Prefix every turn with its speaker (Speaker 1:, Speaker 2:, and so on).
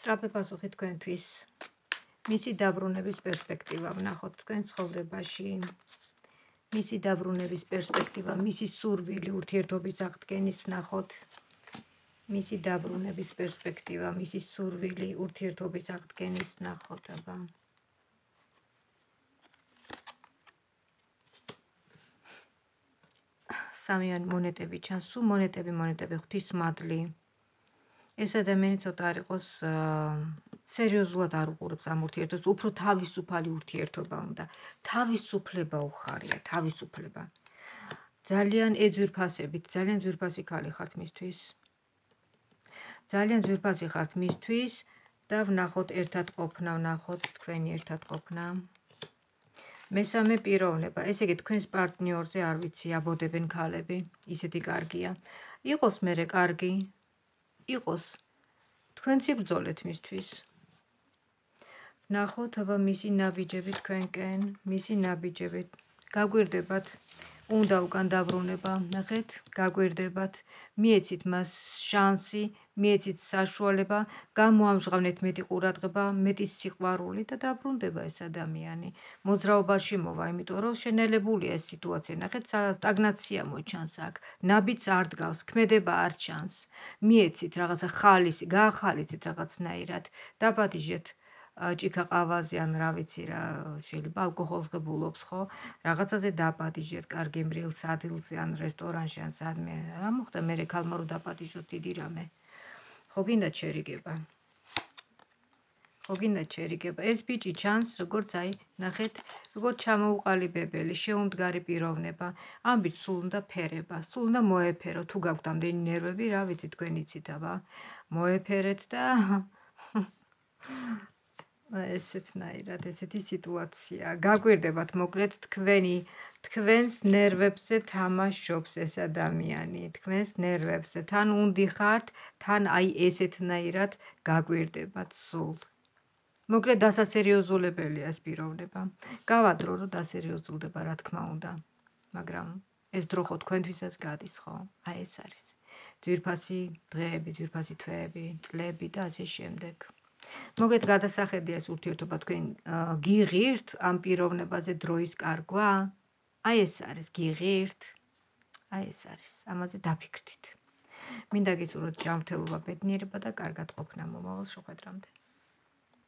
Speaker 1: სწრაფი პასუხი თქვენთვის. მისი დაბრუნების პერსპექტივა ვნახოთ თქვენ ცხოვრებაში. მისი დაბრუნების პერსპექტივა, მისი სურვილი ურთიერთობის აღდგენის ვნახოთ. მისი დაბრუნების პერსპექტივა, მისი სურვილი ურთიერთობის აღდგენის ვნახოთ, აბა. სამიანი მონეტები ჩანს, სულ მონეტები, ღვთისმადლი. ეს ადამიანი ცოტა არ იყოს სერიოზულად არ უყურებს ამ ურთიერთობას, უფრო თავისუფალი ურთიერთობა უნდა. თავისუფლება უხარია, თავისუფლება. ძალიან ეძვირფასებით, ძალიან ძვირფასი ქალი ხართ მისთვის. ძალიან ძვირფასი ხართ მისთვის და ვნახოთ ერთად ყოფნა, ვნახოთ თქვენი ერთად ყოფნა. მესამე პიროვნება, ესე იგი თქვენს პარტნიორზე არ ვიცი, აბოდებენ ქალები, ისეთი კარგია. იყოს მერე კარგი, იყოს, თქვენც იბრძოლეთ მისთვის. ვნახოთ, აბა მისი ნაბიჯები თქვენკენ, მისი ნაბიჯები. გაგვირდებათ, უნდა უკან დაბრუნება, ნახეთ, გაგვირდებათ, მიეცით მას შანსი, მიეცით საშუალება, გამოამჟღავნეთ მეტი ყურადღება, მეტი სიყვარული და დაბრუნდება ეს ადამიანი. მოძრაობაში მოვა, იმიტომ რომ შენელებულია ეს სიტუაცია, ნახეთ, სტაგნაცია მოჩანს აქ, ნაბიჯს არ დგავს, ქმედება არ ჩანს. მიეცით რაღაცა ხალისი, გაახალისეთ რაღაცნაირად, დაპატიჟეთ ჭიქა ყავაზე ან რა ვიცი რა, შეიძლება ალკოჰოლს ღებულობს, ხო? რაღაცაზე დაპატიჟეთ, კარგი მრილს ადგილზე ან რესტორანში ან სადმე. რა მოხდა მერე ქალმა რომ დაპატიჟოთ დიდი რამე? ხო გინდათ შერიგება? ხო გინდათ შერიგება? ეს ბიჭი ჩანს, როგორც აი, ნახეთ, როგორც ჩამოუყალიბებელი, შეუმდგარი პიროვნება. ამ ბიჭს სულ უნდა ფერება, სულ უნდა მოეფერო. თუ გაქვთ ამდენი ნერვები, რა ვიცი თქვენ იცით, აბა. მოეფერეთ და ესეთნაირად, ესეთი სიტუაცია. გაგვირდებათ, მოკლედ, თქვენს ნერვებზე თამაშობს ეს ადამიანი, თქვენს ნერვებზე. თან უნდი ხართ, თან აი ესეთნაირად გაგვირდებათ სულ. მოკლედ, დასასერიოზულებელია ეს პიროვნება. გავადრო, რომ დასერიოზულდება, რა თქმა უნდა. მაგრამ ეს დრო ხო თქვენთვისაც გადის, ხო? აი ეს არის. ძვირფასი დღეები, ძვირფასი თვეები, წლები და ასე შემდეგ. მოგეთ გადასახედია ეს ურთიერთობა თქვენ გიღირთ ამ პიროვნებაზე დროის კარგვა? აი ეს არის გიღირთ. აი ეს არის. ამაზე დაფიქრდით. მინდა გისურვოთ ჯანმრთელობა, ბედნიერება და კარგად ყოფნა მომავალ შეხვედრამდე.